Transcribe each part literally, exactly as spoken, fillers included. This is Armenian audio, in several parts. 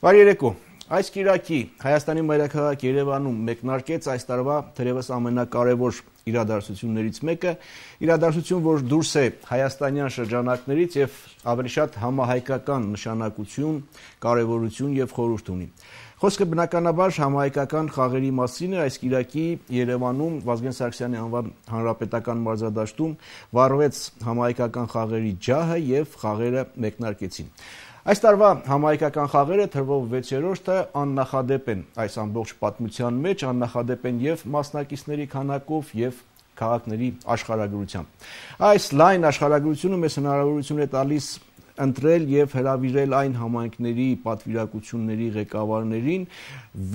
Բարի երեկո։ Այս կիրակի Հայաստանի մայրաքաղաք Երևանում մեկնարկեց այս տարվա թերևս ամենակարևոր իրադարձություններից մեկը, իրադարձություն, որ դուրս է հայաստանյան շրջանակներից եւ ավելի շատ համահայկական նշանակություն, կարևորություն եւ խորհուրդ ունի։ Խոսքը բնականաբար համահայկական խաղերի մասին է։ Այս կիրակի Երևանում Վազգեն Սարգսյանի անվան հանրապետական մարզադաշտում վառվեց համահայկական խաղերի ջահը եւ խաղերը մեկնարկեցին։ Այս տարվա համահայկական խաղերը թվով վեցերորդը աննախադեպ են այս ամբողջ պատմության մեջ, աննախադեպ են եւ մասնակիցների քանակով եւ քաղաքների աշխարհագրությամբ։ Այս լայն աշխարհագրությունը մեզ հնարավորություն է տալիս ընտրել եւ հրավիրել այն համայնքների պատվիրակությունների ղեկավարներին,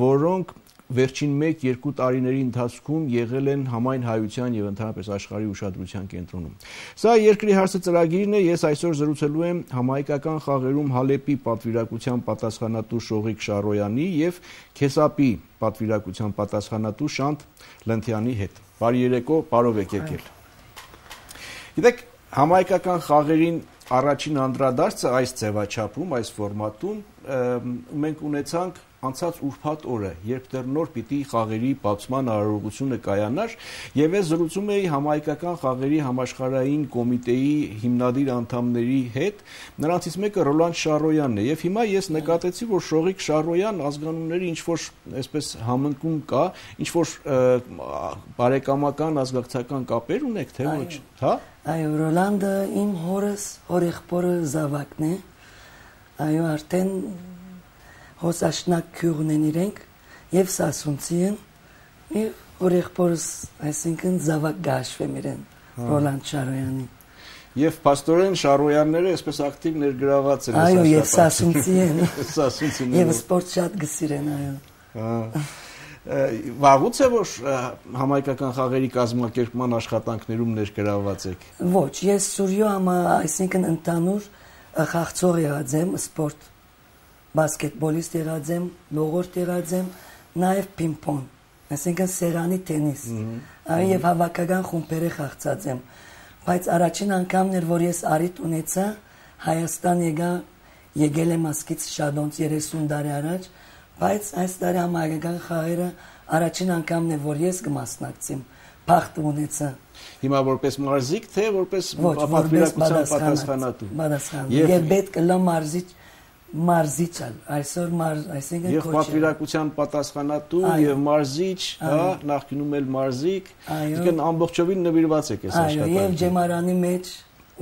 որոնք վերջին մեկ-երկու տարիների ընթացքում եղել են համայն հայության եւ ընդհանրապես աշխարհի ուշադրության կենտրոնում։ Սա երկրի հարցը ծրագիրն է, ես այսօր զրուցելու եմ համահայկական խաղերում Հալեպի պատվիրակության պատասխանատու Շողիկ Շարոյանի եւ Քեսապի պատվիրակության պատասխանատու Շանթ Լենթյանի հետ։ Բարի երեկո, բարով եք եկել։ Գիտեք, համահայկական խաղերին առաջին անդրադարձը այս ձևաչափում, այս ֆորմատում մենք ունեցանք անցած ուրբաթ օրը, երբ դեռ նոր պիտի խաղերի բացման արարողությունը կայանար, եւ ես զրուցում էի համահայկական խաղերի համաշխարհային կոմիտեի հիմնադիր անդամների հետ, նրանցից մեկը Ռոլանդ Շարոյանն է, եւ հիմա ես նկատեցի, որ Շողիկ Շարոյան ազգանունների ինչ-որ այսպես համընկում կա, ինչ-որ բարեկամական ազգակցական կապեր ունեք, թե ոչ, հա? Այո, Ռոլանդը իմ հորս, հորեղբորը զավակն է, այո, արդեն հոսաշնակ քյուղն են իրենք եւ սասունցի են եւ հորեղբորս, այսինքն զավակ գաշվեմ իրեն Ռոլանդ Շարոյանի եւ փաստորեն Շարոյանները այսպես ակտիվ ներգրաված են։ Այո, եւ սասունցի են սասունցիները եւ սպորտ շատ գսիրեն, այո։ Վաղուց է որ համահայկական խաղերի կազմակերպման աշխատանքներում ներգրաված եք։ Ոչ, ես Սուրյո համա, այսինքն ընդհանուր խաղացող եղած եմ, սպորտ բասկետբոլիստ եղած եմ, լողորդ եղած եմ, նաև պինգ-պոնգ, այսինքն սեղանի տենիս, եւ հավաքական խումբերի խաղացած եմ։ Բայց առաջին անգամն էր, որ ես առիթ ունեցա Հայաստան եկա, եկել եմ ասկից շադոնց երեսուն տարի առաջ, բայց այս տարի համահայկական խաղերը առաջին անգամն է, որ ես կմասնակցեմ, փախտ ունեցա։ Հիմա որպես մարզիկ, թե որպես պատվիրակության պատասխանատու։ Պատասխանատու։ Եվ պետք է լա մարզիչ մարզիչալ, այսօր մարզ, այսինքն եւ պատվիրակության պատասխանատու եւ մարզիչ, հա, նախկինում էլ մարզիկ, այսինքն ամբողջովին նվիրված եք այս աշխատանքին։ Այո, եւ ջեմարանի մեջ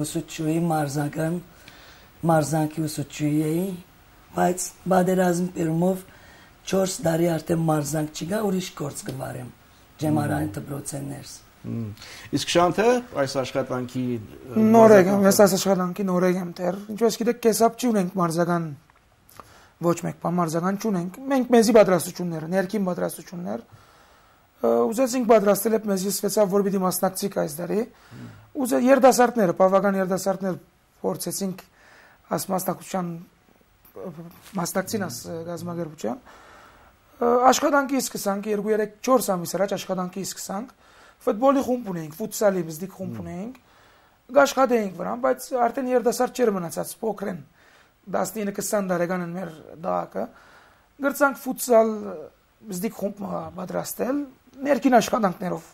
ուսուցչուի մարզական, մարզանկի ուսուցչուի էի, բայց բادرազմ պերումով չորս տարի արդեն մարզանք չկա, ուրիշ գործ կվարեմ ջեմարանի դպրոցներս։ Իսկ Շանթը այս աշխատանքի նոր եմ, ես այս աշխատանքի նոր եմ դեռ։ Ինչպես գիտեք, կեսապ չունենք մարզական ոչ մեկ բան մարզական չունենք։ Մենք մեզի պատրաստություններ, ներքին պատրաստություններ ուզեցինք պատրաստել եք մեզի սկսեցավ, որ պիտի մասնակցիկ այս տարի։ Ուզե երդասարտները, բավական երդասարտներ փորձեցինք աս մասնակցության մասնակցին աս գազագերբության։ Աշխատանքի սկսանք երկու երեք չորս ամիս առաջ աշխատանքի սկսանք։ Ֆուտբոլի խումբ ունենք, ֆուտսալի բզդիկ խումբ ունենք, գաշխատեինք վրան, բայց արդեն երդասարդ չէր մնացած, փոքր են, տասնինը քսան տարեկան են մեր դահակը, գրցանք ֆուտսալ բզդիկ խումբ պատրաստել, ներքին աշխատանքներով,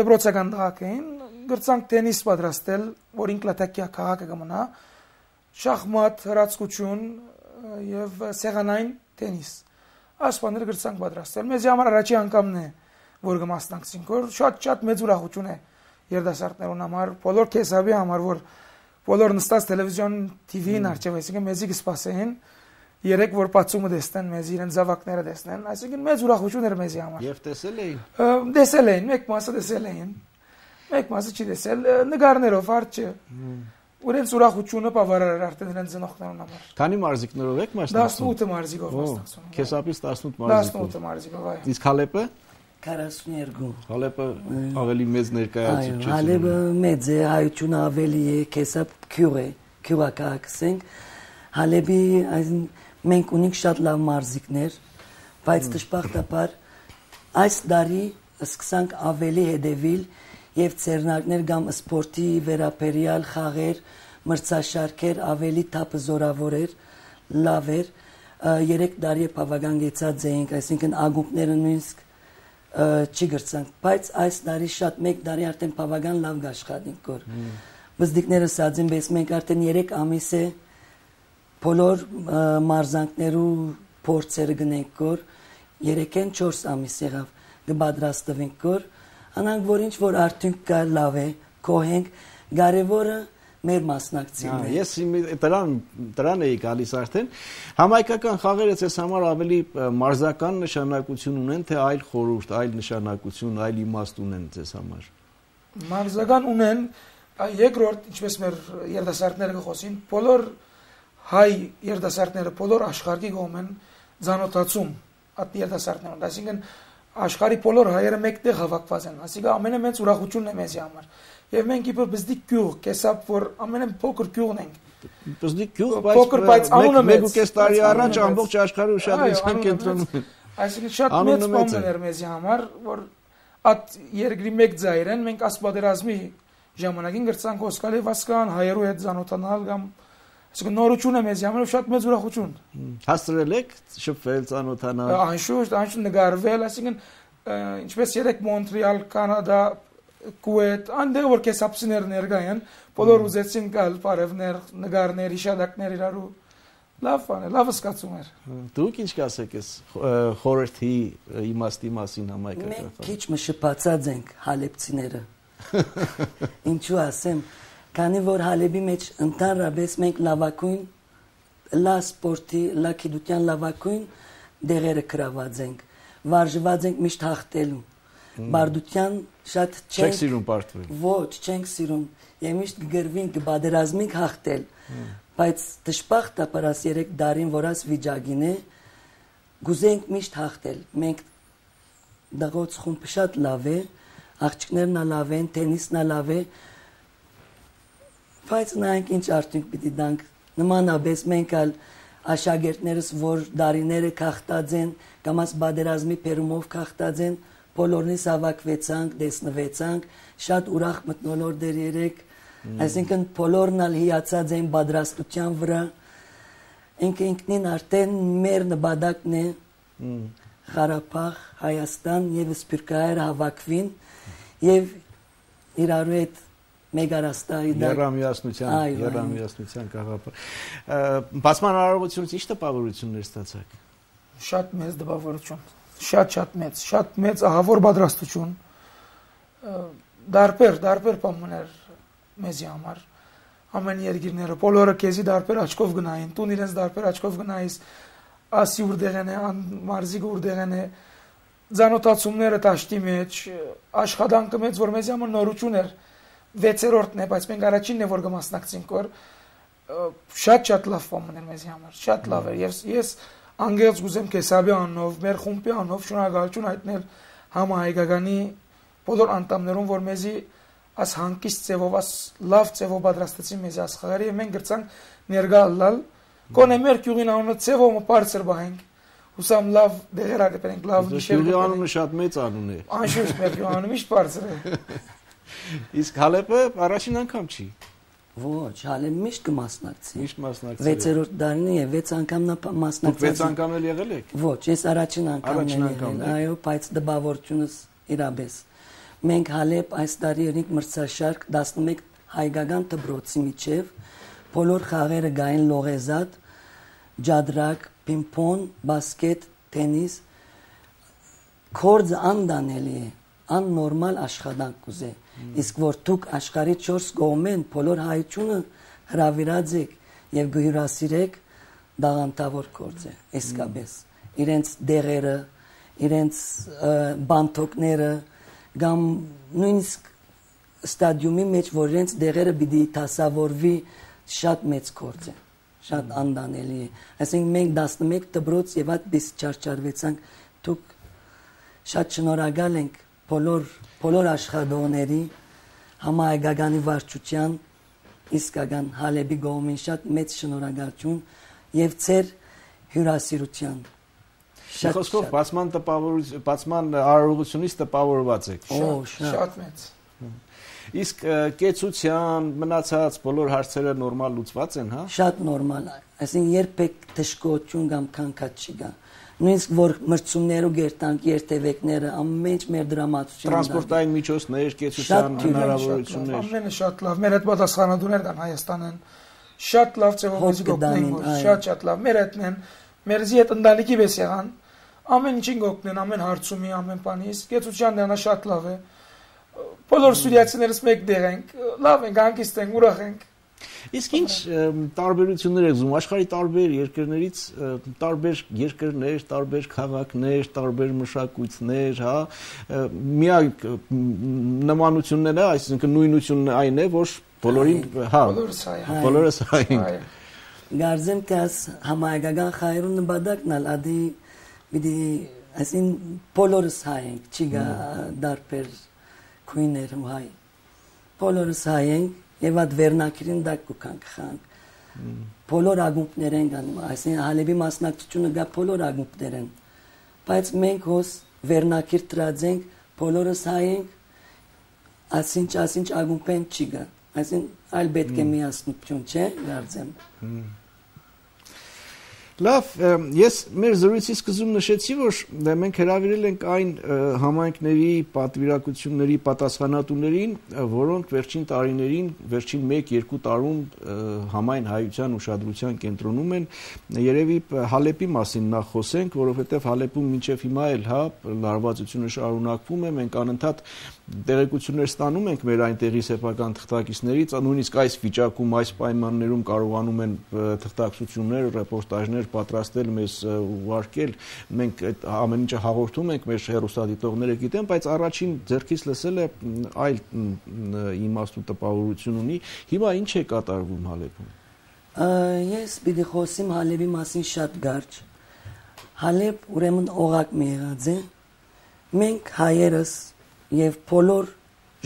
դպրոցական դահակ էին, գրցանք տենիս պատրաստել, որ ինկլատակյա քաղաքը կմնա, շախմատ, հրացկություն եւ սեղանային տենիս, ասպաները գրցանք պատրաստել, մեզի համար առաջի անգամն է, որ կմասնակցենք, որ շատ-շատ մեծ ուրախություն է երդասարտներուն համար, բոլոր քեսաբի համար, որ բոլոր նստած տելևիզիոն թիվին արջև, այսինքն մեզի կսպասեին, երեք որ բացումը տեսնեն, մեզի իրեն զավակները տեսնեն, այսինքն մեծ ուրախություն էր մեզի համար։ Եվ տեսել էին։ Տեսել էին, մեկ մասը տեսել էին, մեկ մասը չի տեսել, նկարներով արջը։ Ուրենց ուրախությունը բավարար էր արդեն իրեն ծնողներուն համար։ Քանի մարզիկներով եք մասնակցում։ տասնութ մարզիկով մասնակցում։ Քեսապից տասնութ մարզիկով։ տասնութ մարզիկով, այո։ Իսկ Հալեպը քառասուններկու։ Հալեպը ավելի մեծ ներկայացուցիչ է։ Հալեպը մեծ է, հայությունը ավելի է, քեսապ քյուղ է, քյուղակացենք։ Հալեպի մենք ունենք շատ լավ մարզիկներ, բայց դժբախտաբար այս տարի սկսանք ավելի հետևել եւ ցերնակներ կամ սպորտի վերապերյալ խաղեր, մրցաշարքեր ավելի թափ զորավոր էր, լավ էր, երեք տարի բավական գեցած էինք, այսինքն ագուկները նույնիսկ չի գրծանք, բայց այս տարի շատ մեկ տարի արդեն բավական լավ աշխատենք կոր։ Բզդիկները սածին բես մենք արդեն երեք ամիս է բոլոր մարզանքներու փորձերը գնենք կոր, երեքեն չորս ամիս եղավ կբադրաստվենք կոր, անանք որ ինչ որ արդյունք կա լավ է, կոհենք, կարևորը մեր մասնակցին է։ Ես դրան դրան էի գալիս արդեն։ Համայնքական խաղերը ցես համար ավելի մարզական նշանակություն ունեն, թե այլ խորհուրդ, այլ նշանակություն, այլ իմաստ ունեն ցես համար։ Մարզական ունեն, երկրորդ, ինչպես մեր երիտասարդները կխոսին, բոլոր հայ երիտասարդները բոլոր աշխարհի կողմեն ցանոթացում այդ երիտասարդներուն, այսինքն աշխարհի բոլոր հայերը մեկտեղ հավաքված են, այսինքն ամենամեծ ուրախությունն է մեզի համար։ Եվ մենք իբր բզդիկ գյուղ, կեսապ որ ամենափոքր գյուղն ենք։ Բզդիկ գյուղ, փոքր, բայց անունը մեծ։ Մեկ ու կես տարի առաջ ամբողջ աշխարհը ուշադրության կենտրոնում են։ Այսինքն շատ մեծ բան էր մեզի համար, որ այդ երկրի մեկ ձայր են, մենք ասպատերազմի ժամանակին գրծանք Օսկալի Վասկան հայերու հետ ցանոթանալ կամ այսինքն նորություն է մեզի համար շատ մեծ ուրախություն։ Հաստրել եք շփվել, ցանոթանալ։ Անշուշտ, անշուշտ նկարվել, այսինքն ինչպես երեք Մոնտրեալ, Կանադա, Կուետ, այնտեղ որ կեսապսիներ ներկա են, բոլոր ուզեցին գալ, բարևներ, նկարներ, իշադակներ իրարու։ Լավ բան է, լավ զգացում էր։ Դուք ինչ կասեք այս խորհրդի իմաստի մասին համայնքական։ Մենք քիչ մշպացած ենք հալեբցիները։ Ինչու ասեմ, քանի որ Հալեբի մեջ ընդհանրապես մենք լավակույն լա սպորտի, լա գիտության լավակույն դեղերը գրաված ենք, վարժված ենք միշտ հաղթելու, բարդության շատ չենք սիրում պարտվել։ Ոչ, չենք սիրում, եւ միշտ կգրվենք կբادرազմենք հաղթել, բայց դժբախտաբար աս երեք դարին որաս վիճակին է, գուզենք միշտ հաղթել, մենք դղոց խումբը շատ լավ է, աղջիկներն լավ են, տենիսն լավ է, բայց նայենք ինչ արդյունք պիտի տանք, նմանապես մենք ալ աշակերտներս, որ դարիները քաղտած են, կամ աս բادرազմի պերումով քաղտած են, բոլորնից հավաքվեցանք, տեսնվեցանք, շատ ուրախ մթնոլորտ էր երեք, այսինքն բոլորն ալ հիացած էին պատրաստության վրա, ինքը ինքնին արդեն մեր նպատակն է, Ղարաբաղ, Հայաստան եւ Սփյուռքահայեր հավաքվին եւ իրարու հետ մեգարաստայի երամիասնության, երամիասնության գաղափար։ Բացման արարողությունից ինչ տպավորություններ ստացաք։ Շատ մեծ տպավորություն, շատ-շատ մեծ, շատ մեծ ահավոր պատրաստություն։ Դարբեր, դարբեր բաներ մեզի համար։ Ամեն երկիրները, բոլորը քեզի դարբեր աչքով գնային, տուն իրենց դարբեր աչքով գնայիս, ասի ուրդեղեն է, մարզիկը ուրդեղեն է, ցանոթացումները տաշտի մեջ, աշխատանքը մեծ, որ մեզի համար նորություն էր, վեցերորդն է, բայց մենք առաջինն է, որ կմասնակցենք, որ շատ-շատ լավ բան էր մեզի համար, շատ լավ էր, եւ ես անգերց գուզեմ կեսաբի անով, մեր խումբի անով շնորհակալություն հայտնել համահայկականի բոլոր անդամներուն, որ մեզի աս հանկիստ ձևով, աս լավ ձևով պատրաստեցին մեզի աս խաղերը, եւ մենք գրծանք ներկա լալ, կոնե մեր գյուղին անունը ձևով բարձր բահենք, հուսամ լավ դեղեր ակտենք, լավ նիշեր։ Գյուղի անունը շատ մեծ անուն է։ Անշուշտ մեր գյուղի անունը միշտ բարձր է։ Իսկ Հալեբը առաջին անգամ չի։ Ոչ, Հալեբը միշտ կմասնակցի։ Միշտ մասնակցի։ վեցերորդ դարին է, վեց անգամ նա մասնակցած։ Դուք վեց անգամ էլ եղել եք։ Ոչ, ես առաջին անգամն եմ, այո, բայց դպավորությունս իրապես։ Մենք Հալեբ այս տարի երիկ մրցաշարք տասնմեկ հայկական դպրոցի միջև բոլոր խաղերը գային լողեզատ, ջադրակ, պինգ-պոնգ, բասկետ, տենիս, կորձը անդանելի է, աննորմալ աշխատանք կուզե։ Իսկ որ դուք աշխարհի չորս կողմեն բոլոր հայությունը հրավիրած եք եւ գյուհրասիրեք, դաղանտավոր կորձ է, իսկապես։ Իրենց դեղերը, իրենց բանթոկները, կամ նույնիսկ ստադիումի մեջ, որ իրենց դեղերը պիտի դասավորվի, շատ մեծ կորձ է, շատ անդանելի է։ Այսինքն մենք տասնմեկ դպրոց եւ այդպես չարչարվեցանք, դուք շատ շնորհակալ ենք բոլոր բոլոր աշխատողների, համահայկականի վարչության, իսկական Հալեբի գոմին շատ մեծ շնորհակալություն եւ ծեր հյուրասիրության։ Խոսքով բացման տպավորություն, բացման արարողությունից տպավորված եք։ Շատ մեծ։ Իսկ կեցության, մնացած բոլոր հարցերը նորմալ լուծված են, հա? Շատ նորմալ է։ Այսինքն երբեք դժգոհություն կամ քանքած չի գա։ Նույնիսկ որ մրցումները ու գերտանք երթևեկները ամենից մեր դրամատուրգիան տրանսպորտային միջոցներ, կեցության հնարավորություններ։ Ամենը շատ լավ։ Մեր հետ պատասխանատուներ կան Հայաստանեն։ Շատ լավ ձևով մեզ գտնեն, շատ շատ լավ։ Մեր հետն են, մերզի հետ ընտանիքի պես եղան։ Ամեն ինչին գտնեն, ամեն հարցումի, ամեն բանի։ Իսկ կեցության դրանա շատ լավ է։ Բոլոր սուրիացիներս մեկ դեղ ենք, լավ ենք, հանգիստ ենք, ուրախ ենք։ Իսկ ինչ տարբերություններ եք զում աշխարհի տարբեր երկրներից, տարբեր երկրներ, տարբեր քաղաքներ, տարբեր մշակույթներ, հա, միակ նմանությունները, այսինքն նույնությունն այն է, որ բոլորին, հա, բոլորս հայ ենք։ Գարձեմ թե աս համայնական խայրուն նպատակն ալ ադի պիտի այսին բոլորս հայ ենք, չի գա դարբեր քույներ ու հայ։ Բոլորս հայ ենք եւ այդ վերնակիրին դակ կուքանք խանք։ Բոլոր ագումբներ են գանում, այսինքն Հալեբի մասնակցությունը գա բոլոր ագումբներ են։ Բայց մենք հոս վերնակիր տրածենք, բոլորս հայ ենք, ասինչ ասինչ ագումբեն չի գա։ Այսինքն այլ պետք է միասնություն չէ, գարձեմ։ Լավ, ես մեր զրույցի սկզբում նշեցի, որ մենք հրավիրել ենք այն համայնքների պատվիրակությունների պատասխանատուներին, որոնք վերջին տարիներին, վերջին մեկ-երկու տարում համայն հայության ուշադրության կենտրոնում են, երևի Հալեպի մասին նախ խոսենք, որովհետև Հալեպում մինչև հիմա էլ, հա, լարվածությունը շարունակվում է, մենք անընդհատ տեղեկություններ ստանում ենք մեր այնտեղի սեփական թղթակիցներից, նույնիսկ այս վիճակում, այս պայմաններում կարողանում են թղթակցություններ, ռեպորտաժներ պատրաստել մեզ ուղարկել, մենք այդ ամեն ինչը հաղորդում ենք, մեր հեռուստադիտողները գիտեն, բայց առաջին ձեռքից լսել է այլ իմաստ ու տպավորություն ունի։ Հիմա ինչ է կատարվում Հալեպում։ Ես պիտի խոսեմ Հալեպի մասին շատ կարճ։ Հալեպ ուրեմն օղակ մի եղած է։ Մենք հայերս եւ բոլոր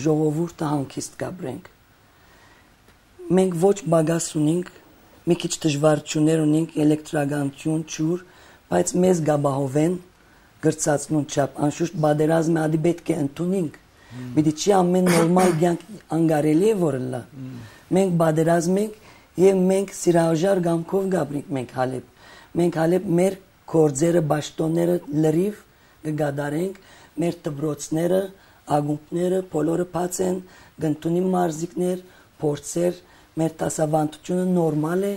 ժողովուրդը հանգիստ կապրենք։ Մենք ոչ բագաս ունենք, մի քիչ դժվարություններ ունենք, էլեկտրականություն, ջուր, բայց մեզ գաբահովեն գրծածնուն չափ, անշուշտ բادرազմը ադի պետք է ընդունենք։ Պիտի չի ամեն նորմալ կյանք անգարելի է որ լա։ Մենք բادرազմ ենք եւ մենք սիրահարժար գամքով գաբրենք մենք Հալեպ։ Մենք Հալեպ մեր կորձերը, ճաշտոնները լրիվ կգադարենք, մեր դբրոցները ագումբները բոլորը բաց են, գտնունի մարզիկներ, փորձեր, մեր տասավանդությունը նորմալ է,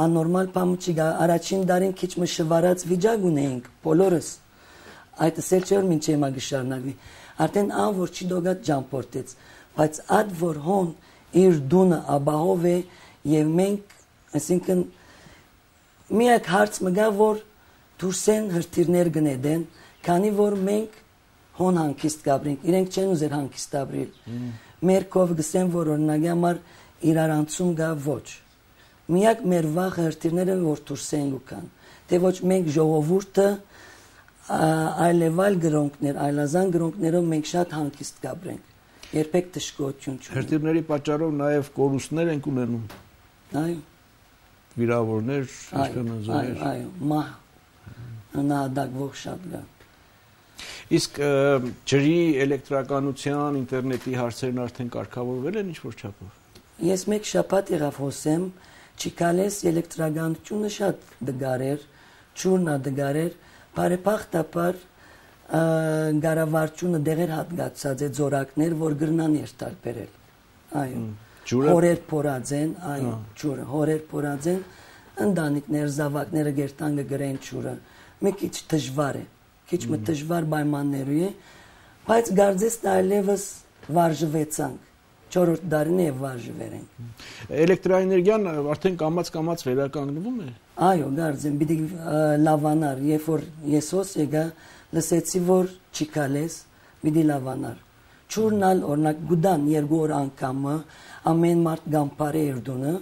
աննորմալ բան չի գա, առաջին դարին քիչ մշվարած վիճակ ունեինք, բոլորս։ Այդ ասել չէ որ մինչ հիմա գշարնակվի։ Արդեն ան որ չի դոգատ ջամփորտեց, բայց այդ որ հոն իր դունը աբահով է եւ մենք, այսինքն միակ հարց մգա որ դուրսեն հրթիռներ գնեդեն, քանի որ մենք հոն հանգիստ կապրենք, իրենք չեն ուզեր հանգիստ ապրել։ Մեր կով գսեն, որ օրինակի համար իրարանցում գա ոչ։ Միակ մեր վաղ հրթիռները որ դուրս են գուքան։ Թե ոչ մենք ժողովուրդը այլևալ գրոնքներ, այլազան գրոնքներով մենք շատ հանգիստ կապրենք։ Երբեք դժգոհություն չունենք։ Հրթիռների պատճառով նաև կորուստներ են ունենում։ Այո։ Վիրավորներ, իշխանազորեր։ Այո, այո, մահ։ Նահատակվող շատ կա։ Իսկ ջրի, էլեկտրականության, ինտերնետի հարցերն արդեն կարգավորվել են ինչ-որ չափով։ Ես մեկ շաբաթ եղավ խոսեմ, չիկալես էլեկտրականությունը շատ դգարեր, ջուրնա դգարեր, բարեփոխտապար գարավարությունը դեղեր հատկացած է ձորակներ, որ գրնան երթալբերել։ Այո։ Հորեր փորած են, այո, ջուրը, հորեր փորած են, ընտանիքներ, զավակները գերտանգը գրեն ջուրը։ Մի քիչ դժվար է։ Քիչ մը դժվար պայմաններու է, բայց գարձես այլևս վարժվեցանք։ Չորրորդ դարին է վարժվեր ենք։ Էլեկտրաէներգիան արդեն կամաց-կամաց վերականգնվում է։ Այո, գարձեմ, պիտի լավանար, երբ որ ես հոս եկա, լսեցի որ չիկալես, պիտի լավանար։ Չուրնալ օրինակ գուդան երկու օր անգամը ամեն մարդ գամփարե երդունը,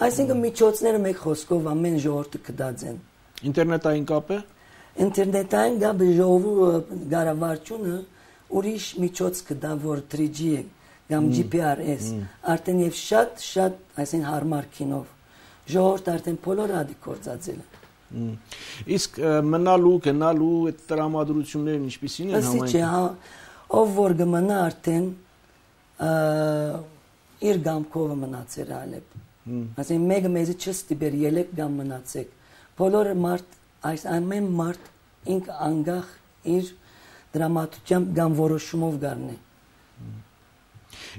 այսինքն միջոցները մեկ խոսքով ամեն ժողովուրդը կդած են։ Ինտերնետային կապը Ինտերնետային գաբը ժողովուրդը գարավարությունը ուրիշ միջոց կդա որ three G է կամ G P R S արդեն եւ շատ շատ այսին հարմար կինով ժողովուրդը արդեն բոլորը ադի կործածել է։ Իսկ մնալու, գնալու այդ տրամադրություններն ինչպիսին են համայնքում։ Ասի չէ, ով որ գմնա արդեն իր գամքով մնացել Ալեպ։ Այսինքն մեկը մեզի չստիպեր ելեք գամ մնացեք։ Բոլորը մարդ, այս ամեն մարդ ինք անգախ իր դրամատուրգիան գամ որոշումով գարնի։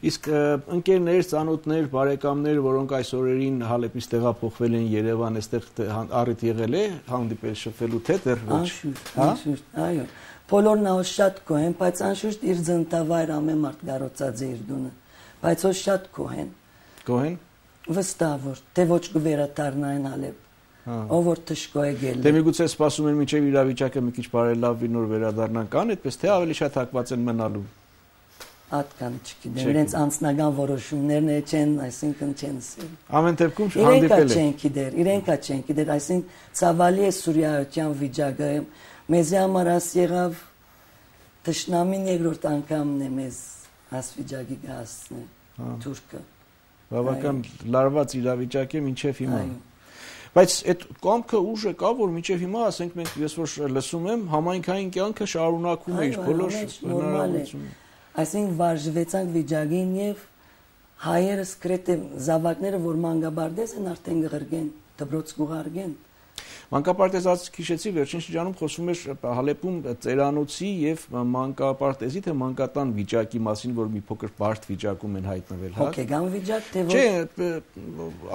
Իսկ ընկերներ, ծանոթներ, բարեկամներ, որոնք այս օրերին Հալեպից տեղափոխվել են Երևան, այստեղ առիթ եղել է հանդիպել շփվելու թե դեռ ոչ։ Անշուշտ, այո։ Բոլորն ահա շատ կոհեն, բայց անշուշտ իր ծննդավայր ամեն մարդ գարոցած է իր դունը, բայց ո շատ կոհեն։ Կոհեն։ Վստահ որ թե ոչ կվերադառնային Հալեպ։ Ով որ թշկո է գել։ Դե միգուցե սպասում են մինչև իրավիճակը մի քիչ բարելավվի նոր վերադառնան կան, այդպես թե ավելի շատ հակված են մնալու։ Ատկան չգիտեմ, իրենց անձնական որոշումներն է չեն, այսինքն չեն սիրում։ Ամեն դեպքում հանդիպել է։ Իրենք չեն գիտեր, իրենք չեն գիտեր, այսինքն ցավալի է Սուրիայության վիճակը, մեզ համար աս եղավ տշնամին երկրորդ անգամն է մեզ աս վիճակի հասցնել թուրքը։ Բավական լարված իրավիճակ է մինչև հիմա։ Բայց այդ կամքը ուժը կա, որ մինչև հիմա, ասենք մենք ես որ լսում եմ, համայնքային կյանքը շարունակում է իր բոլոր հնարավորությունները։ Այսինքն վարժվեցանք վիճակին եւ հայերս կրեթե զավակները որ մանկաբարձ են արդեն գղրգեն դբրոց գուղարգեն մանկապարտեզած քիշեցի վերջին շրջանում խոսում էր Հալեպում ծերանոցի եւ մանկապարտեզի թե մանկատան վիճակի մասին որ մի փոքր բարդ վիճակում են հայտնվել հա հոգեգան վիճակ թե որ չէ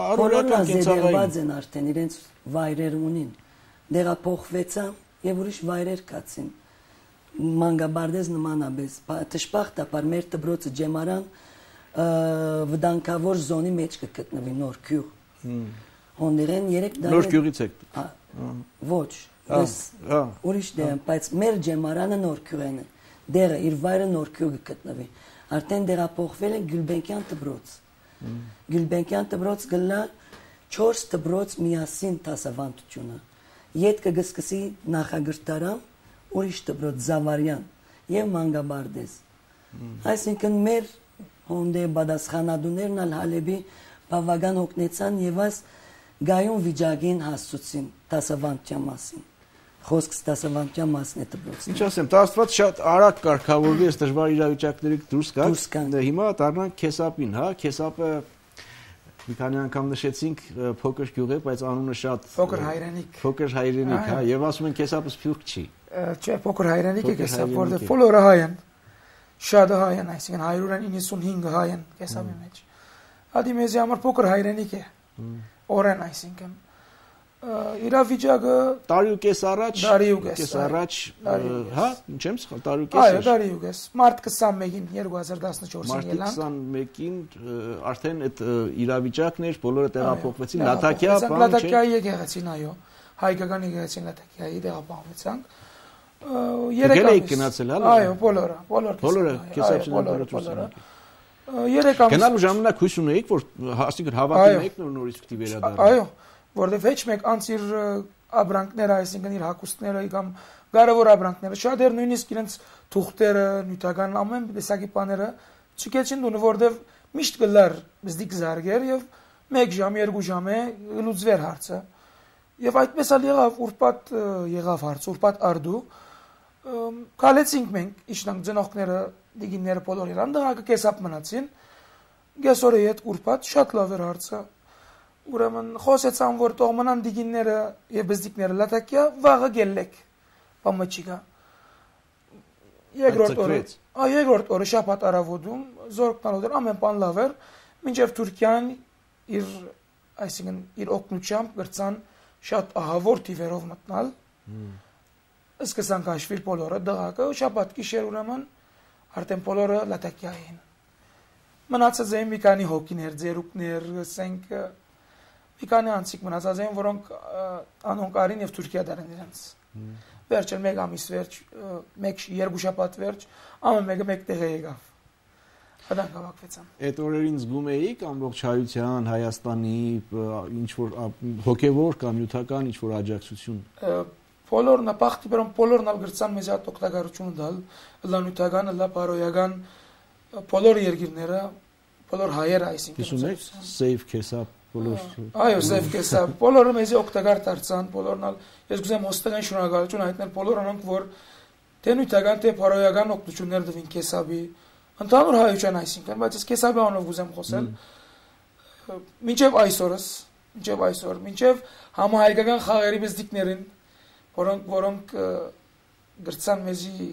առօրյական կենցաղային են արդեն իրենց վայրեր ունին դեղափոխվեցան եւ ուրիշ վայրեր կացին մանկաբարձ նմանաբես տշպախտապար մեր դբրոցը ջեմարան վտանգավոր զոնի մեջ կգտնվի նոր գյուղ հոնդերեն երեք դար նոր գյուղից եք ոչ ես ուրիշ դեմ բայց մեր ջեմարանը նոր գյուղն է դերը իր վայրը նոր գյուղը գտնվի արդեն դերափոխվել են Գյուլբենկյան դբրոց Գյուլբենկյան դբրոց գլա չորս դբրոց միասին դասավանդությունը յետքը գսկսի նախագրտարան ուրիշ դբրոց Զավարյան եւ մանկաբարձ այսինքն մեր հոնդե բադասխանադուներն ալ Հալեբի բավական օգնեցան եւ այս գայուն վիճակին հասցուցին դասավանդության մասին խոսքս դասավանդության մասն է դպրոցի ինչ ասեմ դա աստված շատ արագ կարգավորվի այս դժվար իրավիճակներից դուրս գալ հիմա դառնանք քեսապին հա քեսապը մի քանի անգամ նշեցինք փոքր գյուղ է բայց անունը շատ փոքր հայրենիք փոքր հայրենիք հա եւ ասում են քեսապը սփյուռք չի չէ փոքր հայրենիք է քեսապ որտեղ բոլորը հայ են շատ հայ են այսինքն հարյուր իննսունհինգ հայ են քեսապի մեջ ադի մեզի համար փոքր հայրենիք է օրեն այսինքն իրավիճակը տարի ու կես առաջ տարի ու կես առաջ հա ինչեմ սխալ տարի ու կես այո տարի ու կես մարտ քսանմեկին երկու հազար տասնչորսին ելանք մարտ քսանմեկին արդեն այդ իրավիճակն էր բոլորը տեղափոխվեցին Լատակիա բան չէ Լատակիայի եկեղեցին այո հայկական եկեղեցին Լատակիայի տեղափոխվեցանք երեք ամիս գնացել հա այո բոլորը բոլոր բոլորը քեսապչին բոլորը երեք ամիս գնալու ժամանակ հույս ունեիք որ ասիկր հավատում եք նոր նորից պիտի վերադառնա այո որտեղ ոչ մեկ անց իր աբրանքները այսինքն իր հակոստները կամ կարևոր աբրանքները շատ էր նույնիսկ իրենց թուղթերը նյութական ամեն տեսակի բաները չկեցին դու որտեղ միշտ գլար բզդիկ զարգեր եւ մեկ ժամ երկու ժամ է լուծվեր հարցը եւ այդպես ալ եղավ ուրբաթ եղավ հարց ուրբաթ արդու կալեցինք մենք իշխանք ծնողները դիգինները բոլոր իրան դղակը կեսապ մնացին գեսորը հետ ուրբաթ շատ լավ էր հարցը ուրեմն խոսեցան որ տող մնան դիգինները եւ բզդիկները Լատակիա վաղը գելեք բամաչիկա երկրորդ օրը այ երկրորդ օրը շաբաթ արավոտում զորքնալոդեր ամեն բան լավ էր մինչեւ Թուրքիան իր այսինքն իր օկնուչամբ գրցան շատ ահավոր թիվերով մտնալ սկսան քաշվել բոլորը դղակը շաբաթ գիշեր ուրեմն արդեն բոլորը Լատակիա էին մնացած էին մի քանի հոգիներ ձերուկներ ասենք մի քանի անցիկ մնացած էին որոնք անոնկարին եւ Թուրքիա դարեն իրենց վերջը մեկ ամիս վերջ մեկ երկու շաբաթ վերջ ամեն մեկը մեկ տեղ եկավ հդան հավաքվեցան այդ օրերին զգում էիք ամբողջ հայության Հայաստանի ինչ որ հոգեվոր կամ նյութական ինչ որ աջակցություն բոլորն ապախտի բերում բոլորն ալ գրծան մեզ այդ օգտակարությունը դալ լանյութական լա բարոյական բոլոր երկիրները բոլոր հայերը այսինքն Իսունեք սեյվ քեսապ բոլոր այո սեյվ քեսապ բոլորը մեզ օգտակար դարձան բոլորն ալ ես գուզեմ ոստական շնորհակալություն հայտնել բոլոր անոնք որ թե նյութական թե բարոյական օգնություններ տվին քեսապի Ընդհանուր հայության այսինքն, բայց ես կեսաբի անով գուզեմ խոսել։ Մինչև այսօրս, մինչև այսօր, մինչև համահայկական խաղերի բզդիկներին, որոնք որոնք գրծան մեզի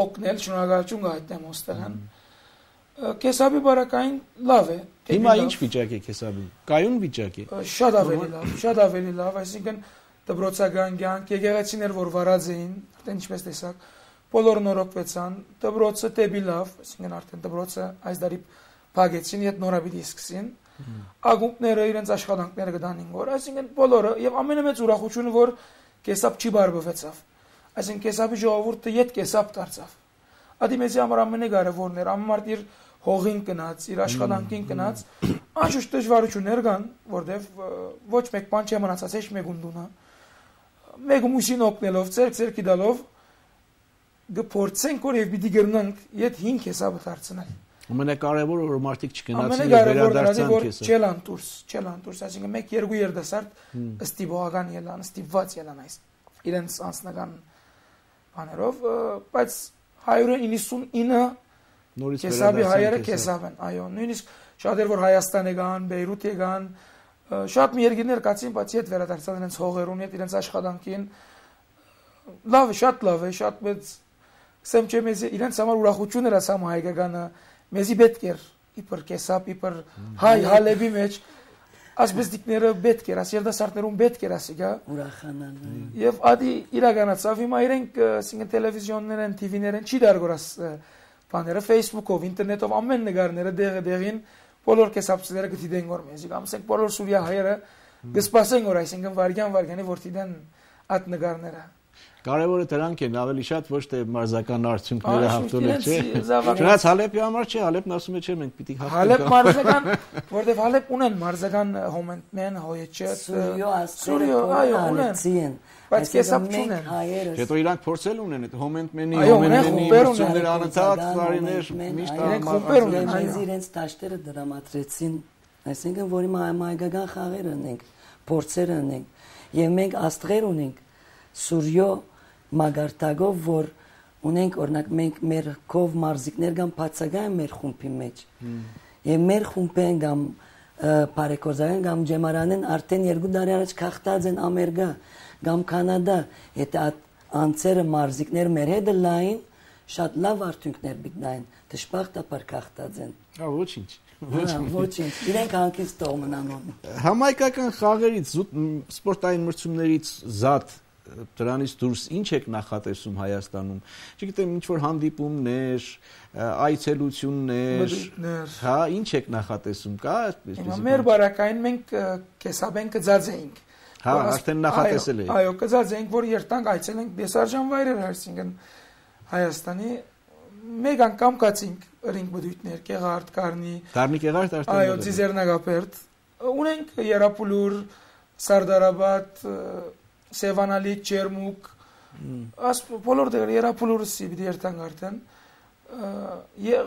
օգնել, շնորհակալություն գայտնեմ ոստեղան։ Կեսաբի բարակային լավ է։ Հիմա ինչ վիճակ է կեսաբի։ Կայուն վիճակ է։ Շատ ավելի լավ, շատ ավելի լավ, այսինքն դպրոցական կյանք, եկեղեցիներ, որ վարած էին, արդեն ինչպես տեսակ, բոլորը նորոգվեցան, դպրոցը տեպի լավ, այսինքն արդեն դպրոցը այս դարի փակեցին, իդ նորաբիդի սկսին, ակումբները իրենց աշխատանքները գտանին որ, այսինքն բոլորը եւ ամենամեծ ուրախությունը որ կեսապ չի բարբվեցավ, այսինքն կեսապի ժողովուրդը իդ կեսապ դարձավ, ադի մեզի համար ամենակարևորն էր, ամենամարդ իր հողին կնած, իր աշխատանքին կնած, անշուշտ դժվարություններ կան, որտեվ ոչ մեկ բան չի մնացած, հեչ մեկ ունդունա, մեկ մուսին օգնելով, ծերք ծերքի դալով գփորձենք որ եւ պիտի գրնանք իդ հինգ հեսաբը դարձնել։ Ամենակարևորը որ մարդիկ չգնացին եւ վերադարձան քեսը։ Չելան դուրս, չելան դուրս, այսինքն մեկ երկու երդասարդ ըստիբողական ելան, ըստիված ելան այս իրենց անձնական բաներով, բայց հայրը իննսունինը նորից կեսաբի հայերը կեսավ են, այո, նույնիսկ շատեր որ Հայաստան եկան, Բեյրութ եկան, շատ մի երկիրներ կացին, բայց իդ վերադարձան իրենց հողերուն, իդ իրենց աշխատանքին, լավ է, շատ լավ է, շատ մեծ, սեմ չէ մեզ իրենց համար ուրախություն էր ասամ հայկականը, մեզի պետք էր, իպր կեսապ, իպր հայ հալեբի մեջ, ասբեստիկները պետք էր, աս երդասարտներուն պետք էր ասի, գա, ուրախանան, եւ ադի իրականացավ, հիմա իրենք, ասինքն տելևիզիոններեն, տիվիներեն չի դարգոր աս բաները, Facebook-ով, ինտերնետով ամեն նկարները դեղը դեղին բոլոր կեսապցիները գտիդեն որ մեզի, ամսենք բոլոր Սուրիա հայերը գսպասեն որ այսինքն վարգյան վարգյանի որ տիդեն այդ նկարները։ Կարևորը դրանք են, ավելի շատ ոչ թե մարզական արդյունքները հաղթողը չէ։ Չնայած Հալեպի համար չէ, Հալեպն ասում է չէ, մենք պիտի հաղթենք։ Հալեպ մարզական, որտեվ Հալեպ ունեն մարզական հոմենտմեն, հոյեչը, Սուրիո, այո, ունեն։ Բայց կեսապ չունեն։ Հետո իրանք փորձել ունեն այդ հոմենտմենի, հոմենտմենի մրցումներ անընդհատ տարիներ միշտ խումբեր ունեն, այնց իրենց դաշտերը դրամատրեցին, այսինքն որ հիմա հայկական խաղեր ունենք, փորձեր ունենք, եւ մենք աստղեր ունենք Սուրիո մագարտակով, որ ունենք օրինակ մենք մեր կով մարզիկներ կամ բացակայեն մեր խումբի մեջ եւ մեր խումբեն կամ բարեկորզային կամ ջեմարանեն արդեն երկու տարի առաջ քաղտած են Ամերիկա կամ Կանադա, եթե անցերը մարզիկներ մեր հետ լայն շատ լավ արդյունքներ բիտնային, դժբախտաբար քաղտած են։ Հա, ոչինչ։ Ոչինչ, իրենք հանկից տողմն անում։ Համայկական խաղերից, սպորտային մրցումներից զատ դրանից դուրս ինչ եք նախատեսում Հայաստանում։ Չգիտեմ, ինչ որ հանդիպումներ, այցելություններ, հա, ինչ եք նախատեսում, կա այսպես։ Հիմա մեր բարակային մենք կեսաբեն կծած էինք։ Հա, արդեն նախատեսել եք։ Այո, կծած էինք, որ երտանք այցելենք դեսարժան վայրեր, այսինքն Հայաստանի մեկ անգամ կացինք ըրինք բդույթներ, Կեղարդ, Կարնի։ Կարնի Կեղարդ արդեն։ Այո, Ձիզեռնագապերտ։ Ունենք Երապուլուր, Սարդարաբադ, Սևանալի, Չերմուկ, աս բոլոր դեր Երապուլուրսի պիտի երթանք արդեն,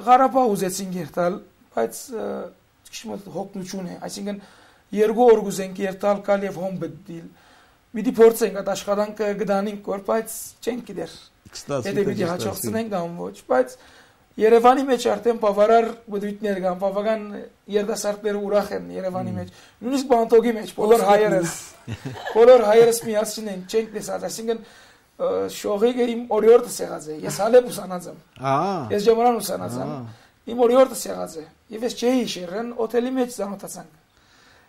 Ղարաբաղ ուզեցինք երթալ, բայց քիչ հոգնություն է, այսինքն երկու օր ուզենք երթալ կալ եւ հոմ բդիլ, պիտի փորձենք այդ աշխատանքը գտանենք որ, բայց չենք գիտեր, եթե պիտի հաջողցնենք կամ ոչ, բայց Երևանի մեջ արդեն բավարար բդույթներ կան, բավական երդասարտները ուրախ են Երևանի մեջ, նույնիսկ Բանտոգի մեջ, բոլոր հայերս, բոլոր հայերս միասին են, չենք տեսած, այսինքն շողիկը իմ օրիորդս եղած է, ես Հալեպ ուսանած եմ, ես Ջեմարան ուսանած եմ, իմ օրիորդս եղած է, եւ ես չէի հիշերն, օթելի մեջ ծանոթացանք։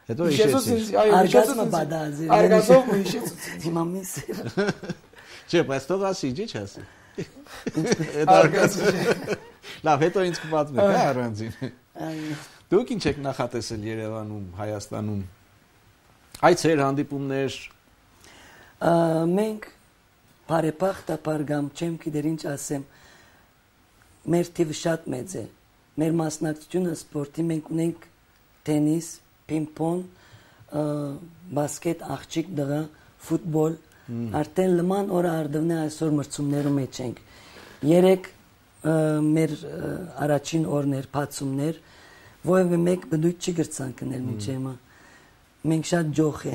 Հետո հիշեցի։ Արգազմը բադազի։ Արգազմով հիշեցի։ Հիմա միս։ Չէ, բայց թող ասի, չի չասի։ Արգազմը։ Լավ, հետո ինձ կպատմեք, հա, առանձին։ Դուք ինչ եք նախատեսել Երևանում, Հայաստանում։ Այցեր, հանդիպումներ։ Մենք բարեբախտաբար կամ չեմ գիտեր ինչ ասեմ, մեր թիվը շատ մեծ է։ Մեր մասնակցությունը սպորտի մենք ունենք տենիս, պինգ-պոնգ, բասկետ, աղջիկ դղա, ֆուտբոլ, արդեն լման օրը արդվնե այսօր մրցումներում մեջ ենք։ Երեք մեր առաջին օրներ, բացումներ, որևէ մեկ բդույթ չի գրցանքնել մինչև հիմա։ Մենք շատ ջոխ է։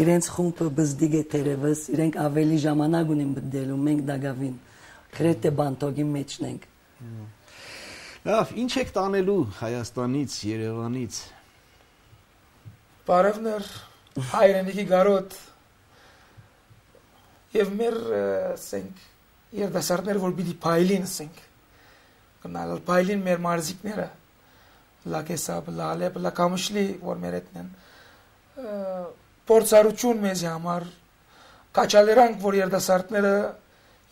Իրենց խումբը բզդիգ է թերևս, իրենք ավելի ժամանակ ունեն բդելու, մենք դագավին, գրեթե բանտոգի մեջն ենք։ Լավ, ինչ եք տանելու Հայաստանից, Երևանից։ Բարևներ, հայրենիքի գարոտ։ Եվ մեր ասենք երդասարտները, որ պիտի փայլին ասենք։ Գնալ փայլին մեր մարզիկները։ Լակեսապ, լալեպ, լակամշլի, որ մեր հետն են։ Փորձառություն մեզի համար կաչալերանք, որ երդասարտները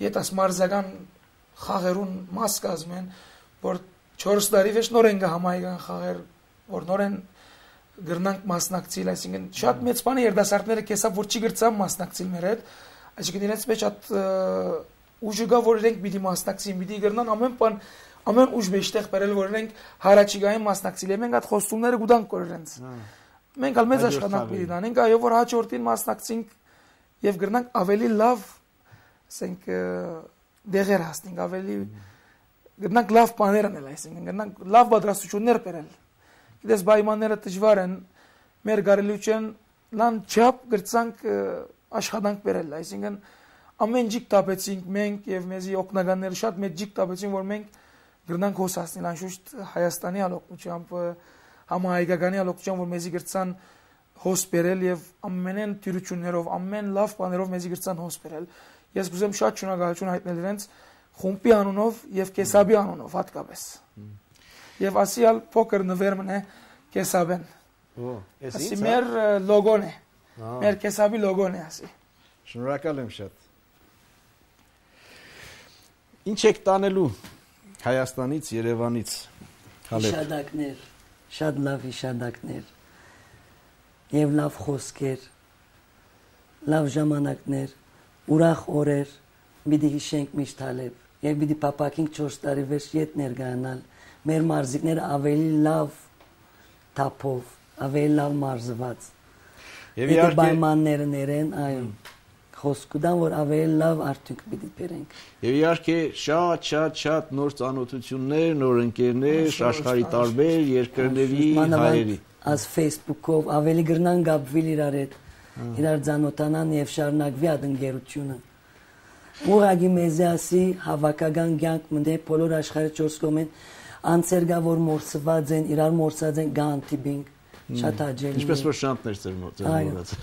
ետաս մարզական խաղերուն մաս կազմեն, որ չորս տարի վեճ նոր են գահամայգան խաղեր, որ նոր են գրնանք մասնակցիլ, այսինքն շատ մեծ բան է երդասարտները կեսապ, որ չի գրծան մասնակցիլ մեր հետ, այսինքն իրենց մեջ շատ ուժը գա, որ իրենք պիտի մասնակցին, պիտի գրնան ամեն բան, ամեն ուժ մեջտեղ բերել, որ իրենք հարաճիգային մասնակցիլ, եւ մենք այդ խոստումները գուտանք կոր իրենց։ Մենք ալ մեծ աշխատանք պիտի տանենք, այո, որ հաջորդին մասնակցենք եւ գրնանք ավելի լավ, ասենք դեղեր հասնենք, ավելի գրնանք լավ բաներ անել, այսինքն գրնանք լավ պատրաստություններ բերել։ Գիտես պայմանները դժվար են, մեր գարելուչեն լան չափ գրծանք աշխատանք բերել, այսինքն ամեն ջիկ տապեցինք մենք եւ մեզի օգնականները շատ մեծ ջիկ տապեցին, որ մենք գրնանք հոսացնել անշուշտ Հայաստանի ալոկությամբ, համահայկականի ալոկությամբ, որ մեզի գրծան հոս բերել եւ ամենեն թյուրություններով, ամեն լավ բաներով մեզի գրծան հոս բերել։ Ես կուզեմ շատ շնորհակալություն հայտնել իրենց խումբի անունով եւ կեսաբի անունով հատկապես։ Եվ ասիալ փոքր նվերմն է կեսաբեն։ Օ, էս ինձ։ Ասի մեր լոգոն է։ Մեր կեսաբի լոգոն է ասի։ Շնորհակալ եմ շատ։ Ինչ եք տանելու Հայաստանից, Երևանից։ Հիշադակներ, շատ լավ հիշադակներ։ Եվ լավ խոսքեր, լավ ժամանակներ, ուրախ օրեր, պիտի հիշենք միշտ հալեւ, եւ պիտի պապակենք չորս տարի վերջ ետ ներգանալ, մեր մարզիկները ավելի լավ թափով, ավելի լավ մարզված։ Եվ իհարկե պայմանները ներեն, այո, խոսքուդան, որ ավելի լավ արդյունք պիտի բերենք։ Եվ իհարկե շատ, շատ, շատ նոր ծանոթություններ, նոր ընկերներ, աշխարհի տարբեր երկրների հայերի։ As Facebook-ով ավելի գրնան գապվել իրար հետ, իրար ծանոթանան եւ շարունակվի այդ ընկերությունը։ Ուղղակի մեզ ասի հավաքական կյանք մտե բոլոր աշխարհի չորս կողմեն անցերգա որ մորցված են, իրար մորցած են գանտիբինգ, շատ աջելի։ Ինչպես որ շանտներ ծեր մորցած։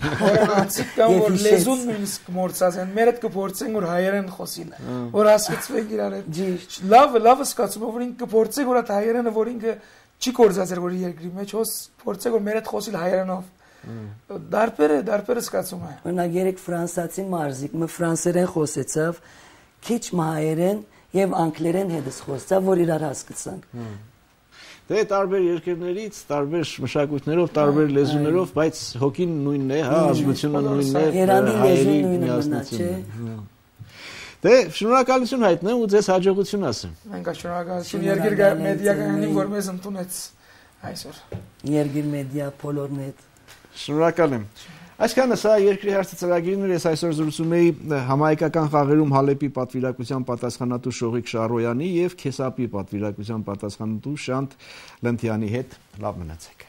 Անցիկ կան որ լեզուն նույնիսկ մորցած են, մեր հետ կփորձենք որ հայերեն խոսին, որ հասկացվենք իրար հետ։ Լավ, լավ սկացում որ ինքը կփորձենք որ այդ հայերենը որ ինքը չի կորզածեր որ երկրի մեջ հոս փորձեք որ մեր հետ խոսիլ հայերենով դարբերը դարբերը սկացում է օրինակ երեք ֆրանսացի մարզիկ մը ֆրանսերեն խոսեցավ քիչ հայերեն եւ անգլերեն հետս խոսեցավ որ իրար հասկացանք դե տարբեր երկրներից տարբեր մշակույթներով տարբեր լեզուներով բայց հոգին նույնն է հա ազգությունը նույնն է երանի լեզուն նույնն է չէ Դե շնորհակալություն հայտնեմ ու ձեզ հաջողություն ասեմ։ Մենք շնորհակալություն Երգիր մեդիականին որ մեզ ընդունեց այսօր։ Երգիր մեդիա բոլորնետ։ Շնորհակալ եմ։ Այսքանը սա երկրի հարցի ծրագիրն էր, ես այսօր զրուցում էի համահայկական խաղերում Հալեպի պատվիրակության պատասխանատու Շողիկ Շարոյանի եւ Քեսապի պատվիրակության պատասխանատու Շանթ Լենթյանի հետ լավ մնացեք։